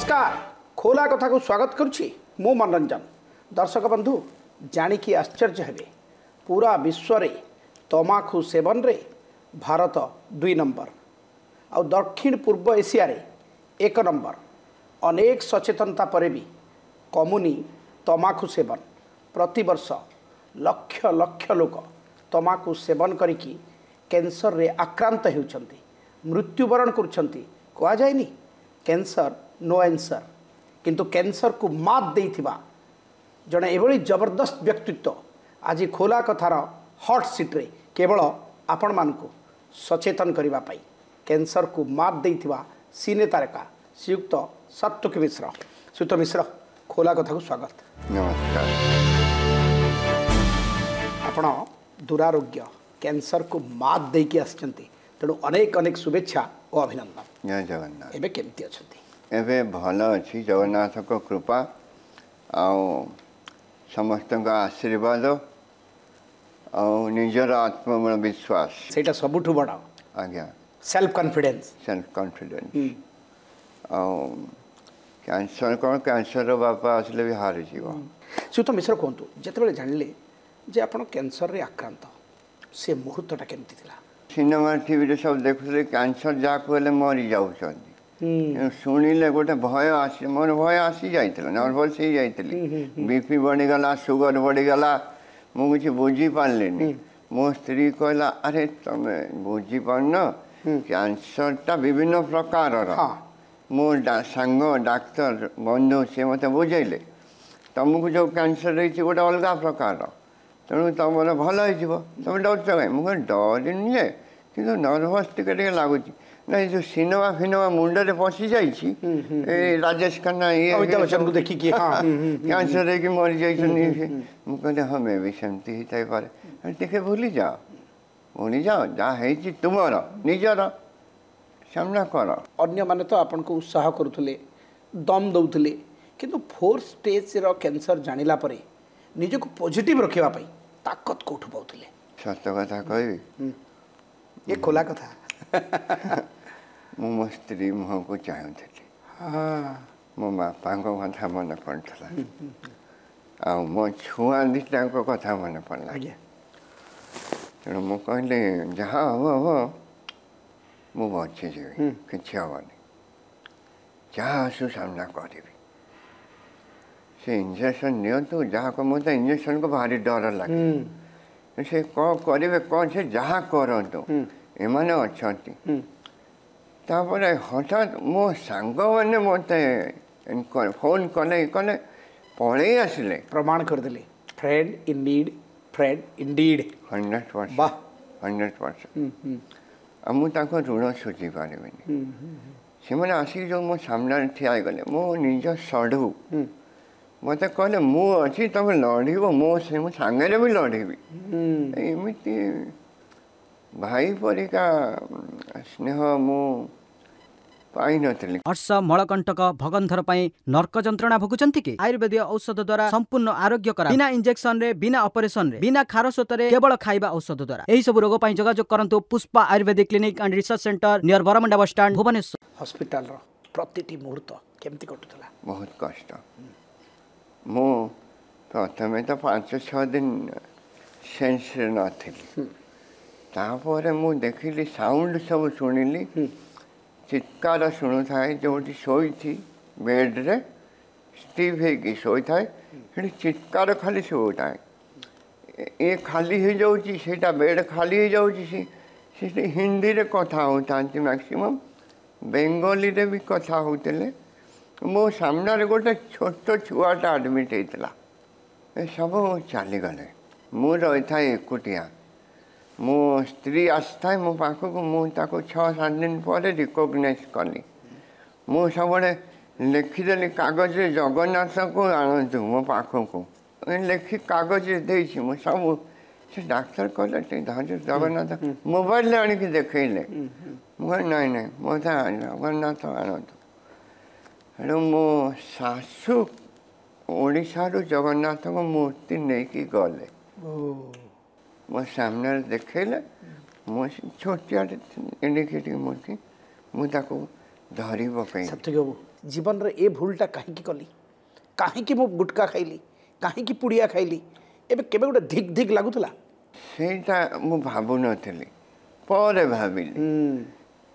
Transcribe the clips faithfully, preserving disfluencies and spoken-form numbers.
ନମସ୍କାର ଖୋଲା କଥାକୁ ସ୍ୱାଗତ କରୁଛି ମୁଁ ମନୋରଞ୍ଜନ ଦର୍ଶକ ବନ୍ଧୁ ଜାଣିକି ଆଶ୍ଚର୍ଯ୍ୟ ହେବେ ପୁରା ବିଶ୍ୱରେ ତମାଖୁ ସେବନରେ ଭାରତ ଦୁଇ ନମ୍ବର ଆଉ ଦକ୍ଷିଣ ପୂର୍ବ ଏସିଆରେ ଏକ ନମ୍ବର ଅନେକ ସଚେତନତା ପରେ ବି କମୁନି ତମାଖୁ ସେବନ ପ୍ରତିବର୍ଷ ଲକ୍ଷ ଲକ୍ଷ ଲୋକ ତମାଖୁ ସେବନ କରିକି କ୍ୟାନ୍ସରରେ ଆକ୍ରାନ୍ତ ହେଉଛନ୍ତି ମୃତ୍ୟୁବରଣ କରୁଛନ୍ତି କୁହାଯାଏନି କ୍ୟାନ୍ସର ନୋ ଆନ୍ସର କିନ୍ତୁ କ୍ୟାନ୍ସରକୁ ମାତ୍ ଦେଇଥିବା ଜଣେ ଏଭଳି ଜବରଦସ୍ତ ବ୍ୟକ୍ତିତ୍ୱ ଆଜି ଖୋଲା କଥାର ହଟ୍ ସିଟ୍ରେ କେବଳ ଆପଣମାନଙ୍କୁ ସଚେତନ କରିବା ପାଇଁ କ୍ୟାନ୍ସରକୁ ମାତ୍ ଦେଇଥିବା ସିନେ ତାରକା ଶ୍ରୀଯୁକ୍ତ ସାତ୍ୱିକ ମିଶ୍ର ଶ୍ରୀଯୁକ୍ତ ମିଶ୍ର ଖୋଲା କଥାକୁ ସ୍ୱାଗତ ନମସ୍କାର ଆପଣ ଦୁରାରୋଗ୍ୟ କ୍ୟାନ୍ସରକୁ ମାତ୍ ଦେଇକି ଆସିଛନ୍ତି ତେଣୁ ଅନେକ ଅନେକ ଶୁଭେଚ୍ଛା ଓ ଅଭିନନ୍ଦନ ଜୟ ଜଗନ୍ନାଥ ଏବେ କେମିତି ଅଛନ୍ତି ଏବେ ଭଲ ଅଛି ଜଗନ୍ନାଥଙ୍କ କୃପା ଆଉ ସମସ୍ତଙ୍କ ଆଶୀର୍ବାଦ ଆଉ ନିଜର ଆତ୍ମବଳ ବିଶ୍ୱାସ ସେଇଟା ସବୁଠୁ ବଡ଼ ଆଜ୍ଞା ସେଲ୍ଫ କନଫିଡେନ୍ସ ସେଲ୍ଫ କନଫିଡେନ୍ସ ଆଉ କ୍ୟାନ୍ସର କ'ଣ କ୍ୟାନ୍ସରର ବାପା ଆସିଲେ ବି ହାରିଯିବ ଶ୍ରୀଯୁକ୍ତ ମିଶ୍ର କୁହନ୍ତୁ ଯେତେବେଳେ ଜାଣିଲେ ଯେ ଆପଣ କ୍ୟାନ୍ସରରେ ଆକ୍ରାନ୍ତ ସେ ମୁହୂର୍ତ୍ତଟା କେମିତି ଥିଲା ସିନେମା ଟିଭିରେ ସବୁ ଦେଖୁଥିଲେ କ୍ୟାନ୍ସର ଯାହାକୁ ହେଲେ ମରିଯାଉଛନ୍ତି କିନ୍ତୁ ଶୁଣିଲେ ଗୋଟେ ଭୟ ଆସି ମୋର ଭୟ ଆସି ଯାଇଥିଲା ନର୍ଭସ୍ ହେଇଯାଇଥିଲି ବି ପି ବଢ଼ିଗଲା ସୁଗର ବଢ଼ିଗଲା ମୁଁ କିଛି ବୁଝିପାରିଲିନି ମୋ ସ୍ତ୍ରୀ କହିଲା ଆରେ ତମେ ବୁଝିପାରୁନ କ୍ୟାନ୍ସରଟା ବିଭିନ୍ନ ପ୍ରକାରର ହଁ। ମୋ ଡା- ସାଙ୍ଗ ଡାକ୍ତର ବନ୍ଧୁ ସେ ମୋତେ ବୁଝେଇଲେ ତମକୁ ଯେଉଁ କ୍ୟାନ୍ସର ହେଇଛି ଗୋଟେ ଅଲଗା ପ୍ରକାରର ତେଣୁ ତମର ଭଲ ହେଇଯିବ ତମେ ଡରୁଛ କାଇଁ ମୁଁ କହିଲି ଡରିନି ଯେ କିନ୍ତୁ ନର୍ଭସ୍ ଟିକେ ଟିକେ ଲାଗୁଛି ନା ଏ ଯେଉଁ ସିନେମା ଫିନେମା ମୁଣ୍ଡରେ ପଶିଯାଇଛି ଏଇ ରାଜେଶ ଖାନ୍ନା ଇଏ ଅମିତାଭ ବଚ୍ଚନକୁ ଦେଖିକି ହଁ ହୁଁ, ହୁଁ, କ୍ୟାନ୍ସର ହେଇକି ମରିଯାଇଛନ୍ତି ମୁଁ କହିଲି ହଁ ମେ ବି ସେମିତି ହେଇଥାଇପାରେ ଟିକେ ଭୁଲିଯାଅ ଭୁଲିଯାଅ ଯାହା ହେଇଛି ତୁମର ନିଜର ସାମ୍ନା କର ଅନ୍ୟମାନେ ତ ଆପଣଙ୍କୁ ଉତ୍ସାହ କରୁଥିଲେ ଦମ୍ ଦେଉଥିଲେ କିନ୍ତୁ ଫୋର୍ଥ ଷ୍ଟେଜ୍ର କ୍ୟାନ୍ସର ଜାଣିଲା ପରେ ନିଜକୁ ପଜିଟିଭ୍ ରଖିବା ପାଇଁ ତାକତ କେଉଁଠୁ ପାଉଥିଲେ ସତ କଥା କହିବି ଏ ଖୋଲା କଥା ମୁଁ ମୋ ସ୍ତ୍ରୀ ମୁହଁକୁ ଚାହୁଁଥିଲି ହଁ ମୋ ବାପାଙ୍କ କଥା ମନେ ପଡ଼ୁଥିଲା ଆଉ ମୋ ଛୁଆ ଦୁଇଟାଙ୍କ କଥା ମନେ ପଡ଼ିଲା ଆଜ୍ଞା ତେଣୁ ମୁଁ କହିଲି ଯାହା ହବ ହବ ମୁଁ ବଞ୍ଚିଯିବି କିଛି ହବନି ଯାହା ଆସୁ ସାମ୍ନା କରିବି ସେ ଇଞ୍ଜେକ୍ସନ୍ ନିଅନ୍ତୁ ଯାହା ମୋତେ ଇଞ୍ଜେକ୍ସନ୍କୁ ଭାରି ଡର ଲାଗେ ସେ କ'ଣ କରିବେ କ'ଣ ସେ ଯାହା କରନ୍ତୁ ଏମାନେ ଅଛନ୍ତି ତାପରେ ହଠାତ୍ ମୋ ସାଙ୍ଗମାନେ ମୋତେ ଫୋନ୍ କଲେ ଇଏ କଲେ ପଳେଇ ଆସିଲେ ପ୍ରମାଣ କରିଦେଲେ friend in need friend indeed hundred percent ବାह ହଣ୍ଡ୍ରେଡ଼ ପରସେଣ୍ଟ ଆଉ ମୁଁ ତାଙ୍କ ଋଣ ଶୁଝି ପାରିବିନି ସେମାନେ ଆସିକି ଯେଉଁ ମୋ ସାମ୍ନାରେ ଠିଆ ହେଇଗଲେ ମୋ ନିଜ ସଢ଼ୁ ମୋତେ କହିଲେ ମୁଁ ଅଛି ତମେ ଲଢ଼ିବ ମୋ ସେ ମୁଁ ସାଙ୍ଗରେ ବି ଲଢ଼ିବି ଏମିତି ଭାଇ ପରିକା ସ୍ନେହ ମୁଁ ପାଇନଥିଲି ଅର୍ଶ ମଳକଣ୍ଟକ ଭଗନ୍ଧର ପାଇଁ ନର୍କ ଯନ୍ତ୍ରଣା ଭୋଗୁଛନ୍ତି କି ଆୟୁର୍ବେଦୀୟ ଔଷଧ ଦ୍ୱାରା ସମ୍ପୂର୍ଣ୍ଣ ଆରୋଗ୍ୟ କରା ବିନା ଇଞ୍ଜେକ୍ସନରେ ବିନା ଅପରେସନରେ ବିନା ଖାରସ୍ରୋତରେ କେବଳ ଖାଇବା ଔଷଧ ଦ୍ୱାରା ଏହି ସବୁ ରୋଗ ପାଇଁ ଯୋଗାଯୋଗ କରନ୍ତୁ Pushpa ayurvedic clinic and research centre near Baramunda bus stand Bhubaneswar ହସ୍ପିଟାଲର ପ୍ରତିଟି ମୁହୂର୍ତ୍ତ କେମିତି କଟୁଥିଲା ବହୁତ କଷ୍ଟ ମୁଁ ପ୍ରଥମେ ତ ପାଞ୍ଚ ଛଅ ଦିନ ସେନ୍ସରେ ନଥିଲି ତାପରେ ମୁଁ ଦେଖିଲି ସାଉଣ୍ଡ ସବୁ ଶୁଣିଲି ଚିତ୍କାର ଶୁଣୁଥାଏ ଯେଉଁଠି ଶୋଇଛି ବେଡ଼୍ରେ ଷ୍ଟିଫ୍ ହେଇକି ଶୋଇଥାଏ ସେଠି ଚିତ୍କାର ଖାଲି ଶୁଭୁଥାଏ ଏ ଖାଲି ହେଇଯାଉଛି ସେଇଟା ବେଡ଼୍ ଖାଲି ହେଇଯାଉଛି ସେ ସେଠି ହିନ୍ଦୀରେ କଥା ହେଉଥାନ୍ତି ମ୍ୟାକ୍ସିମମ୍ ବେଙ୍ଗଲୀରେ ବି କଥା ହେଉଥିଲେ ମୋ ସାମ୍ନାରେ ଗୋଟେ ଛୋଟ ଛୁଆଟା ଆଡ଼ମିଟ୍ ହେଇଥିଲା ଏସବୁ ଚାଲିଗଲେ ମୁଁ ରହିଥାଏ ଏକୁଟିଆ ମୋ ସ୍ତ୍ରୀ ଆସିଥାଏ ମୋ ପାଖକୁ ମୁଁ ତାକୁ ଛଅ ସାତ ଦିନ ପରେ ରିକଗ୍ନାଇଜ୍ କଲି ମୁଁ ସବୁବେଳେ ଲେଖିଦେଲି କାଗଜରେ ଜଗନ୍ନାଥଙ୍କୁ ଆଣନ୍ତୁ ମୋ ପାଖକୁ ଲେଖି କାଗଜରେ ଦେଇଛି ମୁଁ ସବୁ ସେ ଡାକ୍ତର କହିଲେ ଟିକେ ଧୈର୍ଯ୍ୟ ଜଗନ୍ନାଥ ମୋବାଇଲରେ ଆଣିକି ଦେଖେଇଲେ ମୁଁ କହିଲି ନାଇଁ ନାଇଁ ମୋତେ ଜଗନ୍ନାଥ ଆଣନ୍ତୁ ତେଣୁ ମୋ ଶାଶୁ ଓଡ଼ିଶାରୁ ଜଗନ୍ନାଥଙ୍କ ମୂର୍ତ୍ତି ନେଇକି ଗଲେ ମୋ ସାମ୍ନାରେ ଦେଖେଇଲେ ମୁଁ ଛୋଟିଆଟେ ଏଡ଼ିକି ଏଡ଼ିକି ମୂର୍ତ୍ତି ମୁଁ ତାକୁ ଧରି ପକେଇଲି ସାତ୍ୱିକ ବାବୁ ଜୀବନରେ ଏ ଭୁଲଟା କାହିଁକି କଲି, କାହିଁକି ମୁଁ ଗୁଟକା ଖାଇଲି, କାହିଁକି ପୁଡ଼ିଆ ଖାଇଲି, ଏବେ କେବେ ଗୋଟେ ଧିକ୍ ଧିକ୍ ଲାଗୁଥିଲା? ସେଇଟା ମୁଁ ଭାବୁନଥିଲି, ପରେ ଭାବିଲି।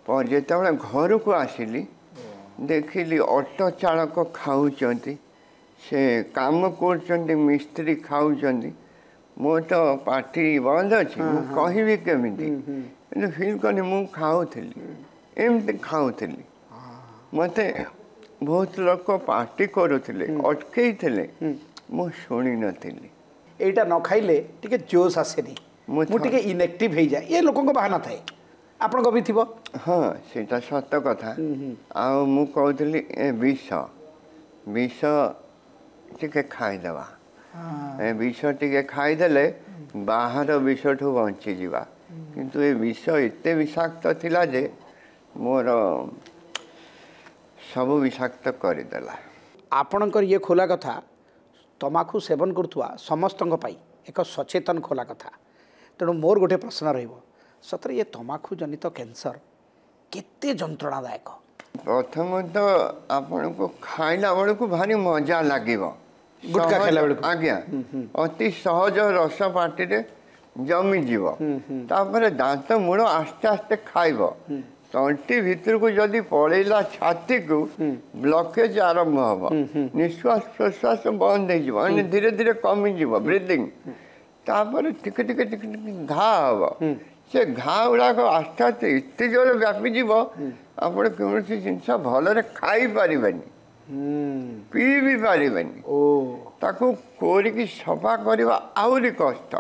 ପରେ ଯେତେବେଳେ ଘରକୁ ଆସିଲି ଦେଖିଲି ଅଟୋ ଚାଳକ ଖାଉଛନ୍ତି, ସେ କାମ କରୁଛନ୍ତି, ମିସ୍ତ୍ରୀ ଖାଉଛନ୍ତି, ମୋ ତ ପାଟି ବନ୍ଦ ଅଛି, ମୁଁ କହିବି କେମିତି? କିନ୍ତୁ ଫିଲ୍ କଲି ମୁଁ ଖାଉଥିଲି, ଏମିତି ଖାଉଥିଲି। ମୋତେ ବହୁତ ଲୋକ ପାଟି କରୁଥିଲେ, ଅଟକେଇଥିଲେ, ମୁଁ ଶୁଣିନଥିଲି। ଏଇଟା ନ ଖାଇଲେ ଟିକେ ଜୋସ୍ ଆସେନି, ମୁଁ ଟିକେ ଇନଆକ୍ଟିଭ୍ ହେଇଯାଏ, ଏ ଲୋକଙ୍କ ବାହାନା ଥାଏ, ଆପଣଙ୍କ ବି ଥିବ? ହଁ, ସେଇଟା ସତ କଥା। ଆଉ ମୁଁ କହୁଥିଲି ଏ ବିଷ ବିଷ ଟିକେ ଖାଇଦେବା, ଏ ବିଷ ଟିକେ ଖାଇଦେଲେ ବାହାର ବିଷଠୁ ବଞ୍ଚିଯିବା। କିନ୍ତୁ ଏ ବିଷ ଏତେ ବିଷାକ୍ତ ଥିଲା ଯେ ମୋର ସବୁ ବିଷାକ୍ତ କରିଦେଲା। ଆପଣଙ୍କର ଇଏ ଖୋଲା କଥା ତମାଖୁ ସେବନ କରୁଥିବା ସମସ୍ତଙ୍କ ପାଇଁ ଏକ ସଚେତନ ଖୋଲା କଥା। ତେଣୁ ମୋର ଗୋଟେ ପ୍ରଶ୍ନ ରହିବ, ସତରେ ଇଏ ତମାଖୁ ଜନିତ କ୍ୟାନ୍ସର କେତେ ଯନ୍ତ୍ରଣାଦାୟକ? ପ୍ରଥମତଃ ଆପଣଙ୍କୁ ଖାଇଲା ବେଳକୁ ଭାରି ମଜା ଲାଗିବ, ଗୁଟକା ଖାଇଲା ବେଳକୁ। ଆଜ୍ଞା, ଅତି ସହଜ ରସ ପାଟିରେ ଜମିଯିବ। ତାପରେ ଦାନ୍ତ ମୂଳ ଆସ୍ତେ ଆସ୍ତେ ଖାଇବ, ତଣ୍ଟି ଭିତରକୁ ଯଦି ପଳେଇଲା ଛାତିକୁ ବ୍ଲକେଜ ଆରମ୍ଭ ହବ, ନିଶ୍ୱାସ ପ୍ରଶ୍ୱାସ ବନ୍ଦ ହେଇଯିବ, ମାନେ ଧୀରେ ଧୀରେ କମିଯିବ ବ୍ରିଦିଂ। ତାପରେ ଟିକେ ଟିକେ ଟିକେ ଟିକେ ଘା ହବ, ସେ ଘା ଗୁଡ଼ାକ ଆସ୍ତେ ଆସ୍ତେ ଏତେ ଜୋରେ ବ୍ୟାପିଯିବ ଆପଣ କୌଣସି ଜିନିଷ ଭଲରେ ଖାଇପାରିବେନି, ପିଇ ବି ପାରିବେନି। ତାକୁ କୋରିକି ସଫା କରିବା ଆହୁରି କଷ୍ଟ,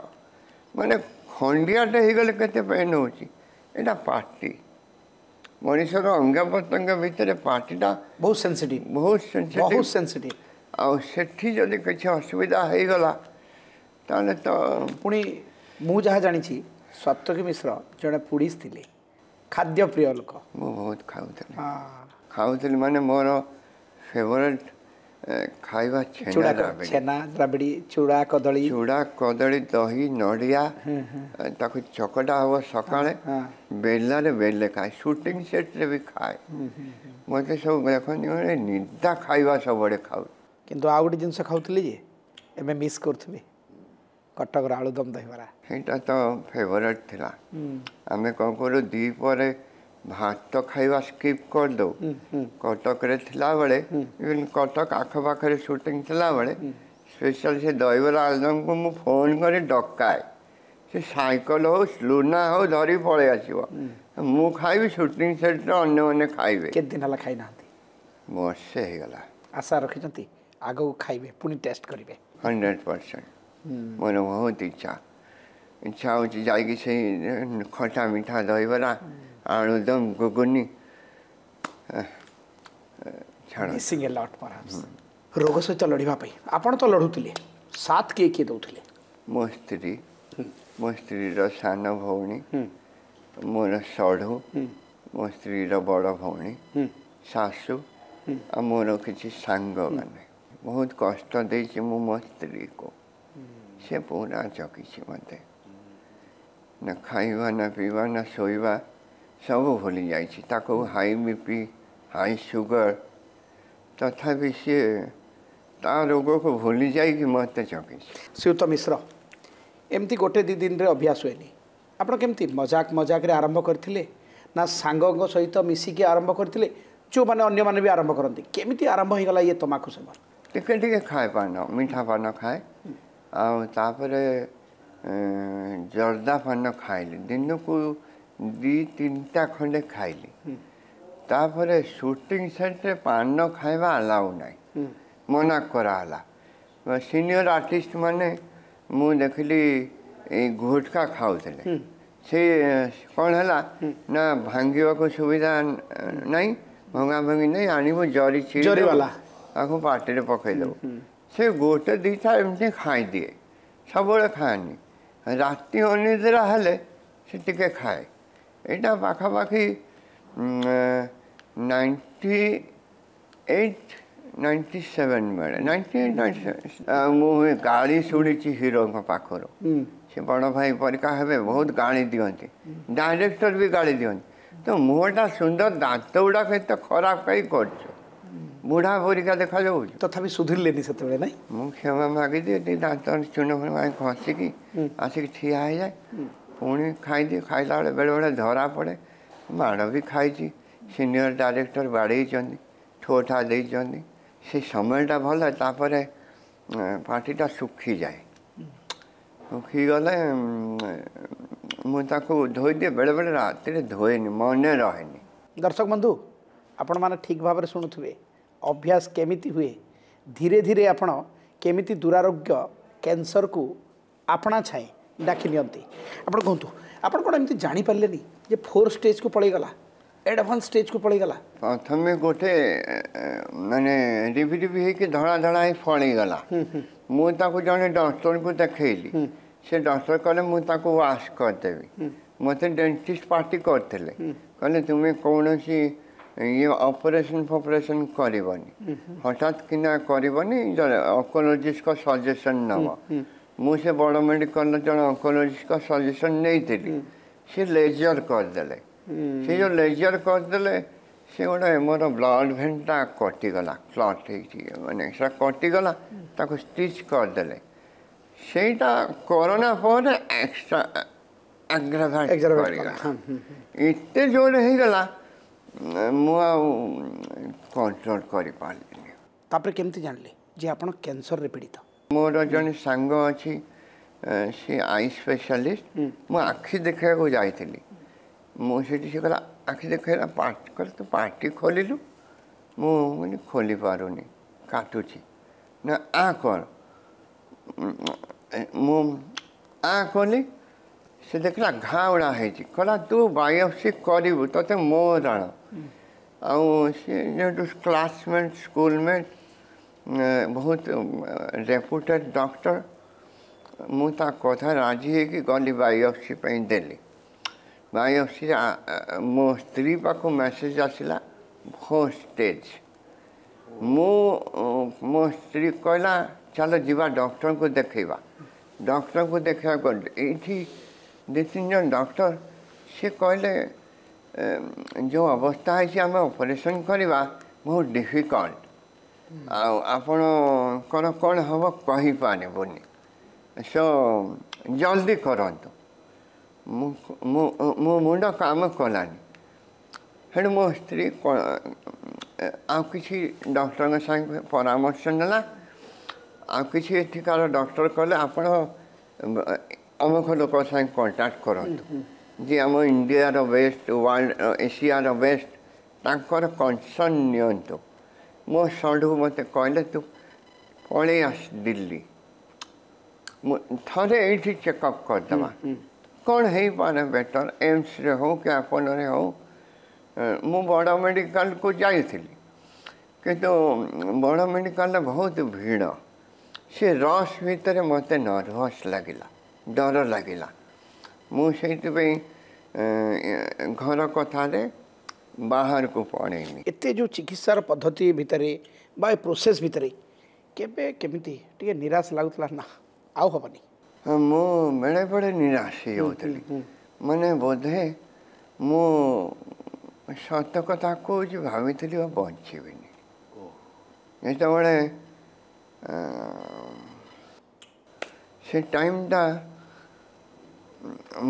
ମାନେ ଖଣ୍ଡିଆଟେ ହେଇଗଲେ କେତେ ପେନ୍ ହେଉଛି। ଏଇଟା ପାଟି, ମଣିଷର ଅଙ୍ଗ ପ୍ରତ୍ୟଙ୍ଗ ଭିତରେ ପାଟିଟା ବହୁତ ସେନ୍ସିଟିଭ୍, ବହୁତ ସେନ୍ସିଟିଭ୍, ବହୁତ ସେନ୍ସିଟିଭ୍। ଆଉ ସେଠି ଯଦି କିଛି ଅସୁବିଧା ହେଇଗଲା ତାହେଲେ ତ ପୁଣି ମୁଁ ଯାହା ଜାଣିଛି ସାତ୍ୟକୀ ମିଶ୍ର ଜଣେ ପୁଡ଼ିସ୍ ଥିଲେ, ଖାଦ୍ୟ ପ୍ରିୟ ଲୋକ। ମୁଁ ବହୁତ ଖାଉଥିଲି, ଖାଉଥିଲି ମାନେ ମୋର ଫେଭରେଟ୍ ଖାଇବା ଛେନା, ଛେନା ରାବିଡ଼ି, ଚୁଡ଼ା କଦଳୀ, ଚୁଡ଼ା କଦଳୀ, ଦହି, ନଡ଼ିଆ, ତାକୁ ଚକଟା ହବ ସକାଳେ, ବେଲାରେ ବେଲେ ଖାଏ, ସୁଟିଂ ସେଟ୍ରେ ବି ଖାଏ। ମୋତେ ସବୁ ଦେଖନ୍ତି ମାନେ ନିଦା ଖାଇବା ସବୁଆଡ଼େ ଖାଉ। କିନ୍ତୁ ଆଉ ଗୋଟେ ଜିନିଷ ଖାଉଥିଲି ଯେ ଏବେ ମିସ୍ କରୁଥିବି, କଟକର ଆଳୁଦମ ଦହିବରା। ସେଇଟା ତ ଫେଭରେଟ୍ ଥିଲା। ଆମେ କ'ଣ କରୁ, ଦ୍ୱିପହରେ ଭାତ ଖାଇବା ସ୍କିପ୍ କରିଦେଉ। କଟକରେ ଥିଲାବେଳେ, ଇଭେନ୍ କଟକ ଆଖପାଖରେ ସୁଟିଂ ଥିଲାବେଳେ ସ୍ପେଶାଲ ସେ ଦହିବରା ଆଳୁଦମକୁ ମୁଁ ଫୋନ୍ କରି ଡକାଏ, ସେ ସାଇକେଲ ହଉ ଲୁନା ହଉ ଧରି ପଳେଇ ଆସିବ, ମୁଁ ଖାଇବି, ସୁଟିଂ ସେଟ୍ରେ ଅନ୍ୟମାନେ ଖାଇବେ। କେତେ ଦିନ ହେଲା ଖାଇନାହାନ୍ତି? ବର୍ଷେ ହେଇଗଲା। ଆଶା ରଖିଛନ୍ତି ଆଗକୁ ଖାଇବେ, ପୁଣି ଟେଷ୍ଟ କରିବେ? ହଣ୍ଡ୍ରେଡ଼ ପରସେଣ୍ଟ ମୋର ବହୁତ ଇଚ୍ଛା, ଇଚ୍ଛା ହେଉଛି ଯାଇକି ସେଇ ଖଟା ମିଠା ଦହିବରା, ଆଳୁଦମ, ଘୁଗୁନି। ମିସିଂ ଏ ଲଟ୍ ପରହାପ୍ସ। ରୋଗ ସହିତ ଲଢ଼ିବା ପାଇଁ ଆପଣ ତ ଲଢ଼ୁଥିଲେ, ସାଥ କିଏ କିଏ ଦେଉଥିଲେ? ମୋ ସ୍ତ୍ରୀ, ମୋ ସ୍ତ୍ରୀର ସାନ ଭଉଣୀ, ମୋର ସଢ଼ୁ, ମୋ ସ୍ତ୍ରୀର ବଡ଼ ଭଉଣୀ, ଶାଶୁ, ଆଉ ମୋର କିଛି ସାଙ୍ଗମାନେ। ବହୁତ କଷ୍ଟ ଦେଇଛି ମୁଁ ମୋ ସ୍ତ୍ରୀକୁ, ସେ ପୁରା ଜଗିଛି ମୋତେ, ନା ଖାଇବା ନା ପିଇବା ନା ଶୋଇବା ସବୁ ଭୁଲି ଯାଇଛି। ତାକୁ high B P, high sugar, ତଥାପି ସିଏ ତା ରୋଗକୁ ଭୁଲି ଯାଇକି ମୋତେ ଜଗିଛି। ଶ୍ରୀଯୁକ୍ତ ମିଶ୍ର, ଏମିତି ଗୋଟେ ଦୁଇ ଦିନରେ ଅଭ୍ୟାସ ହୁଏନି। ଆପଣ କେମିତି ମଜାକ ମଜାକରେ ଆରମ୍ଭ କରିଥିଲେ ନା ସାଙ୍ଗଙ୍କ ସହିତ ମିଶିକି ଆରମ୍ଭ କରିଥିଲେ, ଯେଉଁମାନେ ଅନ୍ୟମାନେ ବି ଆରମ୍ଭ କରନ୍ତି, କେମିତି ଆରମ୍ଭ ହେଇଗଲା ଇଏ ତମାଖୁ ସେବନ? ଟିକେ ଟିକେ ଖାଏ ପାନ, ମିଠା ପାନ ଖାଏ, ଆଉ ତାପରେ ଜର୍ଦା ପାନ ଖାଇଲି, ଦିନକୁ ଦୁଇ ତିନିଟା ଖଣ୍ଡେ ଖାଇଲି। ତାପରେ ସୁଟିଂ ସେଟ୍ରେ ପାନ ଖାଇବା ଆଲାଉ ନାହିଁ, ମନା କରାହେଲା। ସିନିୟର ଆର୍ଟିଷ୍ଟ ମାନେ ମୁଁ ଦେଖିଲି ଏଇ ଗୁଟକା ଖାଉଥିଲେ। ସେ କ'ଣ ହେଲା ନା ଭାଙ୍ଗିବାକୁ ସୁବିଧା ନାହିଁ, ଭଙ୍ଗା ଭଙ୍ଗି ନାହିଁ, ଆଣିବୁ ଜରି ଜରି ବାଲା ତାକୁ ପାଟିରେ ପକାଇଦେବୁ। ସେ ଗୋଟେ ଦୁଇଟା ଏମିତି ଖାଇଦିଏ, ସବୁବେଳେ ଖାଏନି। ରାତି ଅନିଦ୍ରା ହେଲେ ସେ ଟିକେ ଖାଏ। ଏଇଟା ପାଖାପାଖି ନାଇଣ୍ଟି ଏଇଟ୍ ନାଇଣ୍ଟି ସେଭେନ୍ ବେଳେ, ନାଇଣ୍ଟି ଏଇଟ୍ ନାଇଣ୍ଟି ସେଭେନ୍। ମୁଁ ଗାଳି ଶୁଣିଛି ହିରୋଙ୍କ ପାଖରୁ, ସେ ବଡ଼ ଭାଇ ପରିକା ହେବେ, ବହୁତ ଗାଳି ଦିଅନ୍ତି, ଡାଇରେକ୍ଟର ବି ଗାଳି ଦିଅନ୍ତି। ତ ମୁହଁଟା ସୁନ୍ଦର, ଦାନ୍ତ ଗୁଡ଼ାକ ଏତେ ଖରାପ କାହିଁ କରୁଛୁ? ବୁଢ଼ା ପରିକା ଦେଖାଯାଉଛି। ତଥାପି ସୁଧୁରିଲେନି ସେତେବେଳେ? ନାଇଁ, ମୁଁ କ୍ଷମା ମାଗିଦିଏ, ଟିକେ ଦାନ୍ତ ଚୂନ ଫୁଣ ଘଷିକି ଆସିକି ଠିଆ ହେଇଯାଏ, ପୁଣି ଖାଇଦିଏ। ଖାଇଲା ବେଳେ ବେଳେବେଳେ ଧରା ପଡ଼େ, ମାଡ଼ ବି ଖାଇଛି। ସିନିୟର ଡାଇରେକ୍ଟର ବାଡ଼େଇଛନ୍ତି, ଠୋ ଠା ଦେଇଛନ୍ତି। ସେ ସମୟଟା ଭଲ, ତାପରେ ପାଟିଟା ଶୁଖିଯାଏ। ଶୁଖିଗଲେ ମୁଁ ତାକୁ ଧୋଇଦିଏ। ବେଳେବେଳେ ରାତିରେ ଧୋଏନି, ମନେ ରହେନି। ଦର୍ଶକ ବନ୍ଧୁ, ଆପଣମାନେ ଠିକ୍ ଭାବରେ ଶୁଣୁଥିବେ ଅଭ୍ୟାସ କେମିତି ହୁଏ, ଧୀରେ ଧୀରେ ଆପଣ କେମିତି ଦୁରାରୋଗ୍ୟ କ୍ୟାନ୍ସରକୁ ଆପଣା ଛାଏଁ ଡାକି ନିଅନ୍ତି। ଆପଣ କୁହନ୍ତୁ, ଆପଣ କ'ଣ ଏମିତି ଜାଣିପାରିଲେନି ଯେ ଫୋର୍ ଷ୍ଟେଜ୍କୁ ପଳେଇଗଲା, ଆଡ଼ଭାନ୍ସ ଷ୍ଟେଜ୍କୁ ପଳେଇଗଲା? ପ୍ରଥମେ ଗୋଟେ ମାନେ ରିବି ରିବି ହେଇକି ଧଳା ଧଳା ହେଇ ଫଳିଗଲା। ମୁଁ ତାକୁ ଜଣେ ଡକ୍ଟରଙ୍କୁ ଦେଖେଇଲି। ସେ ଡକ୍ଟର କହିଲେ ମୁଁ ତାକୁ ୱାଶ୍ କରିଦେବି। ମୋତେ ଡେଣ୍ଟିଷ୍ଟ ପାର୍ଟି କରିଥିଲେ, କହିଲେ ତୁମେ କୌଣସି ଇଏ ଅପରେସନ୍ ଫପରେସନ୍ କରିବନି, ହଠାତ୍ କିନା କରିବନି, ଅଙ୍କୋଲୋଜିଷ୍ଟଙ୍କ ସଜେସନ୍ ନେବ। ମୁଁ ସେ ବଡ଼ ମେଡ଼ିକାଲର ଜଣେ ଅଙ୍କୋଲୋଜିଷ୍ଟଙ୍କ ସଜେସନ୍ ନେଇଥିଲି। ସେ ଲେଜର କରିଦେଲେ। ସେ ଯେଉଁ ଲେଜର କରିଦେଲେ, ସେ ଗୋଟେ ମୋର ବ୍ଲଡ଼ ଭେନ୍ଟା କଟିଗଲା, କ୍ଲଟ୍ ହେଇଛି, ମାନେ ସେଟା କଟିଗଲା, ତାକୁ ଷ୍ଟିଚ୍ କରିଦେଲେ। ସେଇଟା କରୋନା ପରେ ଏକ୍ସଟ୍ରା ଆଗ୍ରାଭେଟ୍ କରିଗଲା, ଏତେ ଜୋରରେ ହେଇଗଲା ମୁଁ ଆଉ କଣ୍ଟ୍ରୋଲ କରିପାରିଲିନି। ତାପରେ କେମିତି ଜାଣିଲେ ଯେ ଆପଣ କ୍ୟାନ୍ସରରେ ପୀଡ଼ିତ? ମୋର ଜଣେ ସାଙ୍ଗ ଅଛି, ସେ I specialist. ମୁଁ ଆଖି ଦେଖିବାକୁ ଯାଇଥିଲି। ମୁଁ ସେଠି ସେ କହିଲା, ଆଖି ଦେଖେଇଲା, କହିଲା ତୁ ପାଟି ଖୋଲିଲୁ? ମୁଁ କହିଲି ଖୋଲି ପାରୁନି, କାଟୁଛି। ନା ଆ କର। ମୁଁ ଆ କଲି, ସେ ଦେଖିଲା ଘା ଗୁଡ଼ା ହେଇଛି। କହିଲା ତୁ ବାୟୋପ୍ସି କରିବୁ, ତୋତେ ମୋ ରାଣ। ଆଉ ସେ ଯେହେତୁ କ୍ଲାସମେଟ୍, ସ୍କୁଲମେଟ୍, ବହୁତ ରେପୁଟେଡ଼ ଡକ୍ଟର, ମୁଁ ତା କଥା ରାଜି ହେଇକି ଗଲି, ବାୟୋପ୍ସି ପାଇଁ ଦେଲି। ବାୟୋପ୍ସିରେ ମୋ ସ୍ତ୍ରୀ ପାଖକୁ ମେସେଜ ଆସିଲା ଫୋର୍ ଷ୍ଟେଜ୍। ମୁଁ ମୋ ସ୍ତ୍ରୀ କହିଲା ଚାଲ ଯିବା ଡକ୍ଟରଙ୍କୁ ଦେଖେଇବା। ଡକ୍ଟରଙ୍କୁ ଦେଖେଇବାକୁ ଗଲି, ଏଇଠି ଦୁଇ ତିନି ଜଣ ଡକ୍ଟର। ସେ କହିଲେ ଯେଉଁ ଅବସ୍ଥା ହେଇଛି ଆମେ ଅପରେସନ୍ କରିବା ବହୁତ ଡିଫିକଲ୍ଟ, ଆଉ ଆପଣଙ୍କର କ'ଣ ହେବ କହିପାରିବୁନି, ସୋ ଜଲ୍ଦି କରନ୍ତୁ। ମୁଁ ମୋ ମୁଣ୍ଡ କାମ କଲାନି। ସେଠୁ ମୋ ସ୍ତ୍ରୀ ଆଉ କିଛି ଡକ୍ଟରଙ୍କ ସାଙ୍ଗେ ପରାମର୍ଶ ନେଲା। ଆଉ କିଛି ଏଠିକାର ଡକ୍ଟର କହିଲେ ଆପଣ ଅମୁକ ଲୋକ ସାଙ୍ଗେ କଣ୍ଟାକ୍ଟ କରନ୍ତୁ, ଯିଏ ଆମ ଇଣ୍ଡିଆର ବେଷ୍ଟ, ୱାର୍ଲଡ ଏସିଆର ବେଷ୍ଟ, ତାଙ୍କର କନସର୍ନ ନିଅନ୍ତୁ। ମୋ ସଢୁ ମୋତେ କହିଲେ ତୁ ପଳେଇ ଆସ ଦିଲ୍ଲୀ, ମୁଁ ଥରେ ଏଇଠି ଚେକଅପ୍ କରିଦେବା, କ'ଣ ହେଇପାରେ ବେଟର୍, ଏମ୍ସରେ ହଉ କି ଆପୋଲୋରେ ହଉ। ମୁଁ ବଡ଼ ମେଡ଼ିକାଲକୁ ଯାଇଥିଲି, କିନ୍ତୁ ବଡ଼ ମେଡ଼ିକାଲରେ ବହୁତ ଭିଡ଼। ସେ ରସ୍ ଭିତରେ ମୋତେ ନର୍ଭସ୍ ଲାଗିଲା, ଡର ଲାଗିଲା। ମୁଁ ସେଇଥିପାଇଁ ଘର କଥାରେ ବାହାରକୁ ପଳେଇଲି। ଏତେ ଯେଉଁ ଚିକିତ୍ସାର ପଦ୍ଧତି ଭିତରେ ବା ଏ ପ୍ରୋସେସ୍ ଭିତରେ କେବେ କେମିତି ଟିକେ ନିରାଶ ଲାଗୁଥିଲା ନା ଆଉ ହେବନି? ମୁଁ ବେଳେବେଳେ ନିରାଶ ହେଇଯାଉଥିଲି। ମାନେ ବୋଧେ ମୁଁ ସତ କଥା କହୁଛି, ଭାବିଥିଲି ଆଉ ବଞ୍ଚିବିନି। ଯେତେବେଳେ ସେ ଟାଇମ୍ଟା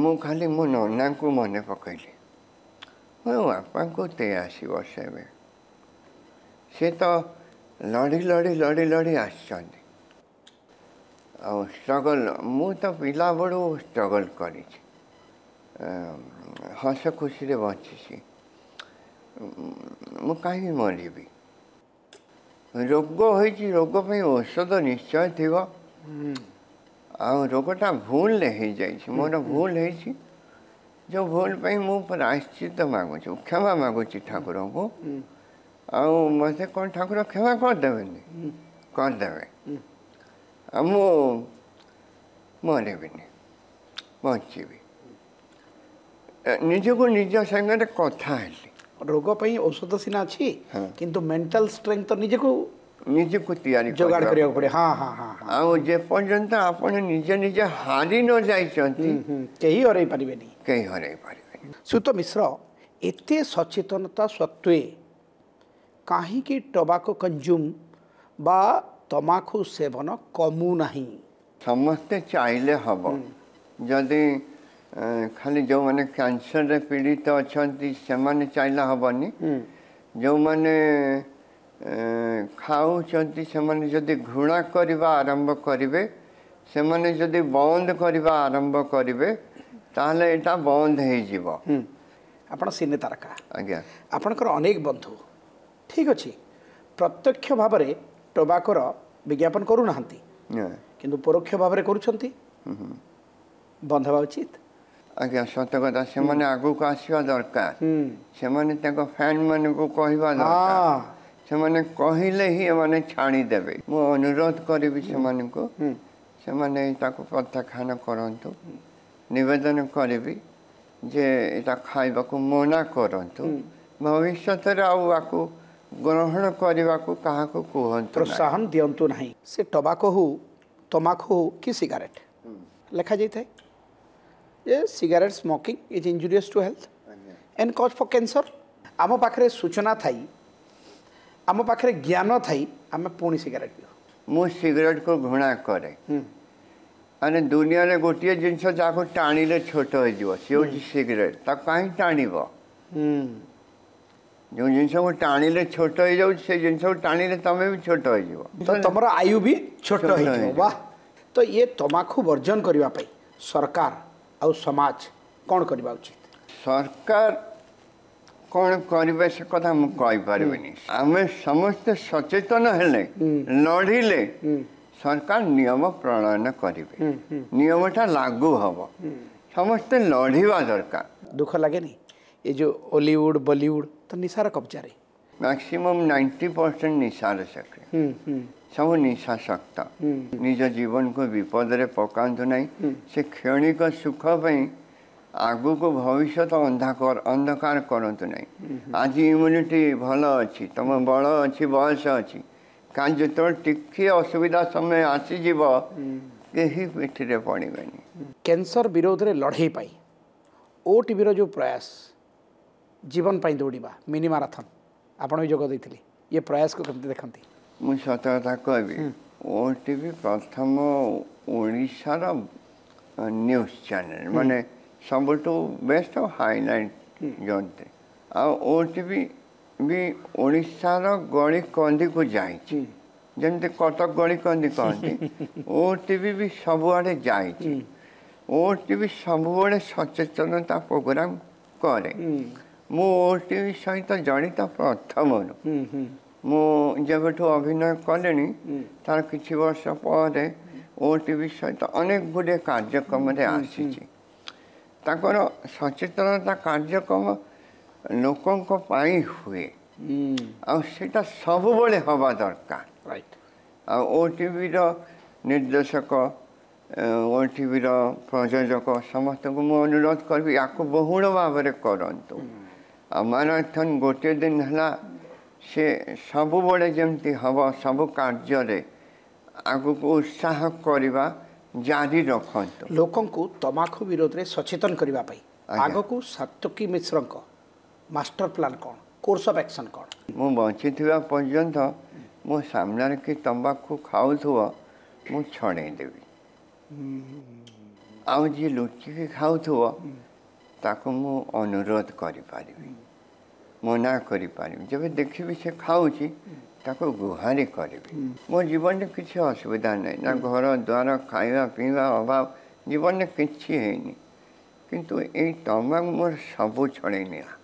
ମୁଁ ଖାଲି ମୋ ନନାଙ୍କୁ ମନେ ପକେଇଲି। ମୋ ବାପାଙ୍କୁ ତେୟାଅଶୀ ବର୍ଷ ଏବେ, ସେ ତ ଲଢ଼ି ଲଢ଼ି ଲଢ଼ି ଲଢ଼ି ଆସିଛନ୍ତି। ଆଉ ଷ୍ଟ୍ରଗଲ୍, ମୁଁ ତ ପିଲାବେଳୁ ଷ୍ଟ୍ରଗଲ୍ କରିଛି, ହସ ଖୁସିରେ ବଞ୍ଚିଛି। ମୁଁ କାହିଁକି ମରିବି? ରୋଗ ହେଇଛି, ରୋଗ ପାଇଁ ଔଷଧ ନିଶ୍ଚୟ ଥିବ। ଆଉ ରୋଗଟା ଭୁଲରେ ହେଇଯାଇଛି, ମୋର ଭୁଲ ହେଇଛି, ଯେଉଁ ଭୁଲ ପାଇଁ ମୁଁ ପ୍ରାୟଶ୍ଚିତ ମାଗୁଛି, କ୍ଷମା ମାଗୁଛି ଠାକୁରଙ୍କୁ। ଆଉ ମୋତେ କ'ଣ ଠାକୁର କ୍ଷମା କରିଦେବେନି? କରିଦେବେ। ଆଉ ମୁଁ ମରିବିନି, ବଞ୍ଚିବି। ନିଜକୁ ନିଜ ସାଙ୍ଗରେ କଥା ହେଲି। ରୋଗ ପାଇଁ ଔଷଧ ସିନା ଅଛି, କିନ୍ତୁ ମେଣ୍ଟାଲ ଷ୍ଟ୍ରେଙ୍ଥ ତ ନିଜକୁ ନିଜକୁ ତିଆରି ଯୋଗାଡ଼ କରିବାକୁ ପଡ଼େ। ହଁ ହଁ ହଁ। ଆଉ ଯେପର୍ଯ୍ୟନ୍ତ ଆପଣ ନିଜେ ନିଜେ ହାରି ନ ଯାଇଛନ୍ତି, କେହି ହରେଇ ପାରିବେନି, କେହି ହରେଇ ପାରିବେନି। ଶ୍ରୀଯୁକ୍ତ ମିଶ୍ର, ଏତେ ସଚେତନତା ସତ୍ତ୍ୱେ କାହିଁକି ଟବାକୋ କନଜ୍ୟୁମ୍ ବା ତମାଖୁ ସେବନ କମୁନାହିଁ? ସମସ୍ତେ ଚାହିଁଲେ ହେବ। ଯଦି ଖାଲି ଯେଉଁମାନେ କ୍ୟାନ୍ସରରେ ପୀଡ଼ିତ ଅଛନ୍ତି ସେମାନେ ଚାହିଁଲେ ହେବନି, ଯେଉଁମାନେ ଖାଉଛନ୍ତି ସେମାନେ ଯଦି ଘୃଣା କରିବା ଆରମ୍ଭ କରିବେ, ସେମାନେ ଯଦି ବନ୍ଦ କରିବା ଆରମ୍ଭ କରିବେ, ତାହେଲେ ଏଇଟା ବନ୍ଦ ହେଇଯିବ। ଆପଣ ସିନେ ତାରକା। ଆଜ୍ଞା। ଆପଣଙ୍କର ଅନେକ ବନ୍ଧୁ, ଠିକ୍ ଅଛି, ପ୍ରତ୍ୟକ୍ଷ ଭାବରେ ଟୋବାକୋର ବିଜ୍ଞାପନ କରୁନାହାନ୍ତି, କିନ୍ତୁ ପରୋକ୍ଷ ଭାବରେ କରୁଛନ୍ତି, ବନ୍ଦ ହେବା ଉଚିତ। ଆଜ୍ଞା, ସତ କଥା। ସେମାନେ ଆଗକୁ ଆସିବା ଦରକାର, ସେମାନେ ତାଙ୍କ ଫ୍ୟାନ୍ ମାନଙ୍କୁ କହିବା ଦରକାର। ସେମାନେ କହିଲେ ହିଁ ଏମାନେ ଛାଡ଼ିଦେବେ। ମୁଁ ଅନୁରୋଧ କରିବି ସେମାନଙ୍କୁ, ସେମାନେ ତାକୁ ପ୍ରତ୍ୟାଖ୍ୟାନ କରନ୍ତୁ। ନିବେଦନ କରିବି ଯେ ଏଇଟା ଖାଇବାକୁ ମନା କରନ୍ତୁ, ଭବିଷ୍ୟତରେ ଆଉ ଆକୁ ଗ୍ରହଣ କରିବାକୁ କାହାକୁ କୁହନ୍ତୁ, ପ୍ରୋତ୍ସାହନ ଦିଅନ୍ତୁ ନାହିଁ। ସେ ଟବାକୋ ହଉ, ତମାଖୁ ହଉ କି ସିଗାରେଟ୍, ଲେଖାଯାଇଥାଏ ଯେ cigarette smoking is injurious to health and cause for cancer. ଆମ ପାଖରେ ସୂଚନା ଥାଇ, ଆମ ପାଖରେ ଜ୍ଞାନ ଥାଇ ଆମେ ପୁଣି ସିଗାରେଟ୍ ପିଉ। ମୁଁ ସିଗାରେଟ୍କୁ ଘୃଣା କରେ। ମାନେ ଦୁନିଆରେ ଗୋଟିଏ ଜିନିଷ ଯାହାକୁ ଟାଣିଲେ ଛୋଟ ହେଇଯିବ, ସିଏ ହେଉଛି ସିଗାରେଟ୍। ତାକୁ କାହିଁ ଟାଣିବ? ଯେଉଁ ଜିନିଷକୁ ଟାଣିଲେ ଛୋଟ ହେଇଯାଉଛି, ସେ ଜିନିଷକୁ ଟାଣିଲେ ତମେ ବି ଛୋଟ ହେଇଯିବ, ତ ତମର ଆୟୁ ବି ଛୋଟ ହେଇଯିବ। ବାহ। ତ ଇଏ ତମାଖୁ ବର୍ଜନ କରିବା ପାଇଁ ସରକାର ଆଉ ସମାଜ କ'ଣ କରିବା ଉଚିତ? ସରକାର କ'ଣ କରିବେ ସେ କଥା ମୁଁ କହିପାରିବିନି। ଆମେ ସମସ୍ତେ ସଚେତନ ହେଲେ, ଲଢ଼ିଲେ ସରକାର ନିୟମ ପ୍ରଣୟନ କରିବେ, ନିୟମଟା ଲାଗୁ ହେବ। ସମସ୍ତେ ଲଢ଼ିବା ଦରକାର। ଦୁଃଖ ଲାଗେନି ଏ ଯେଉଁ ଓଲିଉଡ଼ ବଲିଉଡ଼ ତ ନିଶାର କବ୍ଜାରେ? ମ୍ୟାକ୍ସିମମ୍ ନାଇଣ୍ଟି ପରସେଣ୍ଟ ନିଶାର ସକ୍ରିୟ, ସବୁ ନିଶାସକ୍ତ। ନିଜ ଜୀବନକୁ ବିପଦରେ ପକାନ୍ତୁ ନାହିଁ। ସେ କ୍ଷଣିକ ସୁଖ ପାଇଁ ଆଗକୁ ଭବିଷ୍ୟତ ଅନ୍ଧକାର ଅନ୍ଧକାର କରନ୍ତୁ ନାହିଁ। ଆଜି ଇମ୍ୟୁନିଟି ଭଲ ଅଛି, ତୁମ ବଳ ଅଛି, ବୟସ ଅଛି, କାହିଁ ଯେତେବେଳେ ଟିକିଏ ଅସୁବିଧା ସମୟ ଆସିଯିବ କେହି ପିଠିରେ ପଡ଼ିବେନି। କ୍ୟାନ୍ସର ବିରୋଧରେ ଲଢ଼େଇ ପାଇଁ ଓଟିଭିର ଯେଉଁ ପ୍ରୟାସ, ଜୀବନ ପାଇଁ ଦୌଡ଼ିବା ମିନି ମାରାଥନ୍, ଆପଣ ବି ଯୋଗ ଦେଇଥିଲେ, ଇଏ ପ୍ରୟାସକୁ କେମିତି ଦେଖନ୍ତି? ମୁଁ ସତ କଥା କହିବି, ଓଟିଭି ପ୍ରଥମ ଓଡ଼ିଶାର ନ୍ୟୁଜ୍ ଚ୍ୟାନେଲ୍, ମାନେ ସବୁଠୁ ବେଷ୍ଟ ହାଇଲାଇଟ୍ ଯନ୍ତ୍ରୀ। ଆଉ ଓଟିଭି ବି ଓଡ଼ିଶାର ଗଳି କନ୍ଦିକୁ ଯାଇଛି, ଯେମିତି କଟକ ଗଳି କନ୍ଦି କହନ୍ତି, ଓଟିଭି ବି ସବୁଆଡ଼େ ଯାଇଛି। ଓଟିଭି ସବୁବେଳେ ସଚେତନତା ପ୍ରୋଗ୍ରାମ କରେ। ମୁଁ ଓଟିଭି ସହିତ ଜଡ଼ିତ ପ୍ରଥମରୁ। ମୁଁ ଯେବେଠୁ ଅଭିନୟ କଲିଣି ତାର କିଛି ବର୍ଷ ପରେ ଓଟିଭି ସହିତ ଅନେକ ଗୁଡ଼ିଏ କାର୍ଯ୍ୟକ୍ରମରେ ଆସିଛି। ତାଙ୍କର ସଚେତନତା କାର୍ଯ୍ୟକ୍ରମ ଲୋକଙ୍କ ପାଇଁ ହୁଏ, ଆଉ ସେଇଟା ସବୁବେଳେ ହେବା ଦରକାର। ଆଉ ଓଟିଭିର ନିର୍ଦ୍ଦେଶକ, ଓଟିଭିର ପ୍ରଯୋଜକ ସମସ୍ତଙ୍କୁ ମୁଁ ଅନୁରୋଧ କରିବି ୟାକୁ ବହୁଳ ଭାବରେ କରନ୍ତୁ। ଆଉ ମାରାଥନ୍ ଗୋଟିଏ ଦିନ ହେଲା, ସେ ସବୁବେଳେ ଯେମିତି ହେବ, ସବୁ କାର୍ଯ୍ୟରେ ଆଗକୁ ଉତ୍ସାହ କରିବା ଜାରି ରଖନ୍ତୁ। ଲୋକଙ୍କୁ ତମାଖୁ ବିରୋଧରେ ସଚେତନ କରିବା ପାଇଁ ଆଗକୁ ସାତ୍ୟକୀ ମିଶ୍ରଙ୍କ ମାଷ୍ଟର ପ୍ଲାନ୍ କ'ଣ, କୋର୍ସ ଅଫ୍ ଆକ୍ସନ୍ କ'ଣ? ମୁଁ ବଞ୍ଚିଥିବା ପର୍ଯ୍ୟନ୍ତ ମୋ ସାମ୍ନାରେ କି ତମ୍ବାଖୁ ଖାଉଥିବ ମୁଁ ଛଡ଼େଇ ଦେବି, ଆଉ ଯିଏ ଲୁଚିକି ଖାଉଥିବ ତାକୁ ମୁଁ ଅନୁରୋଧ କରିପାରିବି, ମନା କରିପାରିବି। ଯେବେ ଦେଖିବି ସେ ଖାଉଛି ତାକୁ ଗୁହାରି କରିବି। ମୋ ଜୀବନରେ କିଛି ଅସୁବିଧା ନାହିଁ, ନା ଘର ଦ୍ୱାର ଖାଇବା ପିଇବା ଅଭାବ, ଜୀବନରେ କିଛି ହେଇନି, କିନ୍ତୁ ଏଇ ତମାଖୁ ମୋର ସବୁ ଛଡ଼େଇ ନେଲା।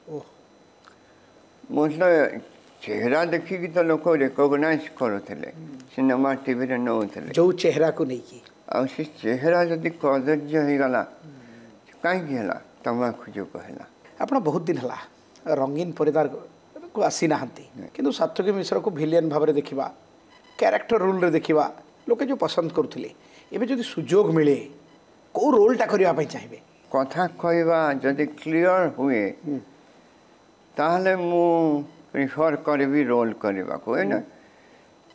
ମୋର ତ ଚେହେରା ଦେଖିକି ତ ଲୋକ ରେକଗ୍ନାଇଜ୍ କରୁଥିଲେ, ସିନେମା ଟିଭିରେ ନେଉଥିଲେ ଯେଉଁ ଚେହେରାକୁ ନେଇକି, ଆଉ ସେ ଚେହେରା ଯଦି କଦର୍ଯ୍ୟ ହେଇଗଲା, କାହିଁକି ହେଲା? ତମାଖୁ ଯୋଗୁଁ ହେଲା। ଆପଣ ବହୁତ ଦିନ ହେଲା ରଙ୍ଗୀନ ପରିବାରକୁ ଆସିନାହାନ୍ତି, କିନ୍ତୁ ସାତ୍ୟକୀ ମିଶ୍ରକୁ ଭିଲିଆନ ଭାବରେ ଦେଖିବା, କ୍ୟାରେକ୍ଟର ରୋଲ୍ରେ ଦେଖିବା ଲୋକେ ଯେଉଁ ପସନ୍ଦ କରୁଥିଲେ, ଏବେ ଯଦି ସୁଯୋଗ ମିଳେ କେଉଁ ରୋଲ୍ଟା କରିବା ପାଇଁ ଚାହିଁବେ? କଥା କହିବା ଯଦି କ୍ଲିଅର ହୁଏ ତାହେଲେ ମୁଁ ପ୍ରିଫର୍ କରିବି ରୋଲ୍ କରିବାକୁ। ଏଇନା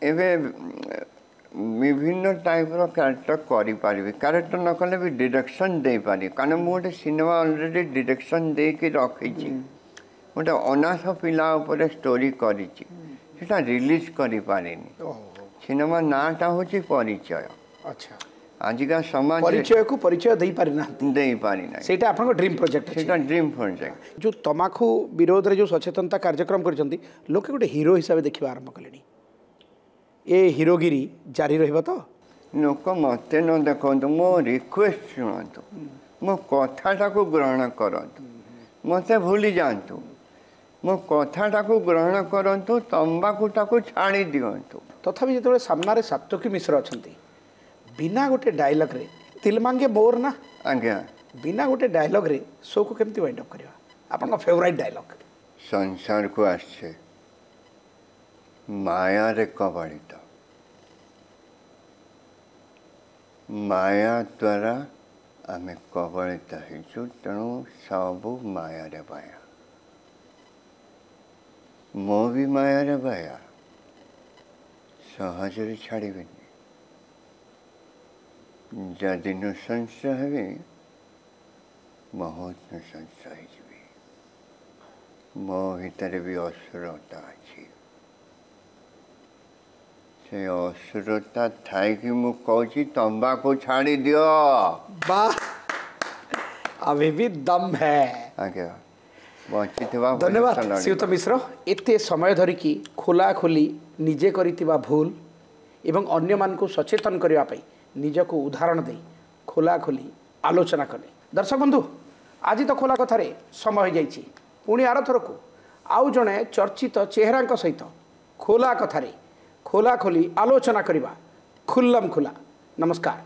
ଏବେ ବିଭିନ୍ନ ଟାଇପ୍ର କ୍ୟାରେକ୍ଟର କରିପାରିବି, କ୍ୟାରେକ୍ଟର ନ କଲେ ବି ଡିରେକ୍ସନ୍ ଦେଇପାରିବି, କାରଣ ମୁଁ ଗୋଟେ ସିନେମା ଅଲରେଡ଼ି ଡିରେକ୍ସନ୍ ଦେଇକି ରଖିଛି। ଗୋଟେ ଅନାଥ ପିଲା ଉପରେ ଷ୍ଟୋରି କରିଛି, ସେଟା ରିଲିଜ୍ କରିପାରିନି। ସିନେମା ନାଁଟା ହେଉଛି ପରିଚୟ। ଆଚ୍ଛା। ଆଜିକା ସମାଜ ପରିଚୟକୁ ପରିଚୟ ଦେଇପାରିନାହାନ୍ତି। ଦେଇପାରିନାହିଁ। ସେଇଟା ଆପଣଙ୍କ ଡ୍ରିମ୍ ପ୍ରୋଜେକ୍ଟ? ସେଇଟା ଡ୍ରିମ୍ ପ୍ରୋଜେକ୍ଟ। ଯେଉଁ ତମାଖୁ ବିରୋଧରେ ଯେଉଁ ସଚେତନତା କାର୍ଯ୍ୟକ୍ରମ କରିଛନ୍ତି, ଲୋକେ ଗୋଟେ ହିରୋ ହିସାବରେ ଦେଖିବା ଆରମ୍ଭ କଲେଣି। ଏ ହିରୋଗିରି ଜାରି ରହିବ ତ? ଲୋକ ମୋତେ ନ ଦେଖନ୍ତୁ, ମୋ ରିକ୍ୱେଷ୍ଟ ଶୁଣନ୍ତୁ, ମୋ କଥାଟାକୁ ଗ୍ରହଣ କରନ୍ତୁ, ମୋତେ ଭୁଲି ଯାଆନ୍ତୁ, ମୋ କଥାଟାକୁ ଗ୍ରହଣ କରନ୍ତୁ, ତମ୍ବାଖୁଟାକୁ ଛାଡ଼ି ଦିଅନ୍ତୁ। ତଥାପି ଯେତେବେଳେ ସାମ୍ନାରେ ସାତ୍ୱକୀ ମିଶ୍ର ଅଛନ୍ତି, ବିନା ଗୋଟେ ଡାଇଲଗ୍ରେ ତିଲ ମାଙ୍ଗେ ମୋର ନା? ଆଜ୍ଞା। ବିନା ଗୋଟେ ଡାଇଲଗ୍ରେ ଶୋକୁ କେମିତି ୱାଇଣ୍ଡ ଅପ୍ କରିବା, ଆପଣଙ୍କ ଫେଭରାଇଟ୍ ଡାଇଲଗ୍? ସଂସାରକୁ ଆସିଛେ ମାୟାରେ କବଳିତ, ମାୟା ଦ୍ୱାରା ଆମେ କବଳିତ ହେଇଛୁ, ତେଣୁ ସବୁ ମାୟାରେ ବାୟା। ମୁଁ ବି ମାୟାରେ ବାୟା, ସହଜରେ ଛାଡ଼ିବିନି। ଯଦି ନୃଶଂସ ହେବି, ବହୁତ ନୃଶଂସ ହେଇଯିବି। ମୋ ଭିତରେ ବି ଅସୁରତା ଅଛି। ସେ ଅସୁରତା ଥାଇକି ମୁଁ କହୁଛି, ତମ୍ବାକୁ ଛାଡ଼ି ଦିଅ। ବାह, अभी भी दम है। ଆଜ୍ଞା, ବଞ୍ଚିଥିବା ଧନ୍ୟବାଦ ପର୍ଯ୍ୟନ୍ତ ଲଢ଼ିବା। ଶ୍ରୀଯୁକ୍ତ ମିଶ୍ର, ଏତେ ସମୟ ଧରିକି ଖୋଲାଖୋଲି ନିଜେ କରିଥିବା ଭୁଲ ଏବଂ ଅନ୍ୟମାନଙ୍କୁ ସଚେତନ କରିବା ପାଇଁ ନିଜକୁ ଉଦାହରଣ ଦେଇ ଖୋଲାଖୋଲି ଆଲୋଚନା କଲେ। ଦର୍ଶକ ବନ୍ଧୁ, ଆଜି ତ ଖୋଲା କଥାରେ ସମୟ ହୋଇଯାଇଛି। ପୁଣି ଆରଥରକୁ ଆଉ ଜଣେ ଚର୍ଚ୍ଚିତ ଚେହେରାଙ୍କ ସହିତ ଖୋଲା କଥାରେ ଖୋଲାଖୋଲି ଆଲୋଚନା କରିବା। ଖୁଲ୍ଲମ ଖୋଲା। ନମସ୍କାର।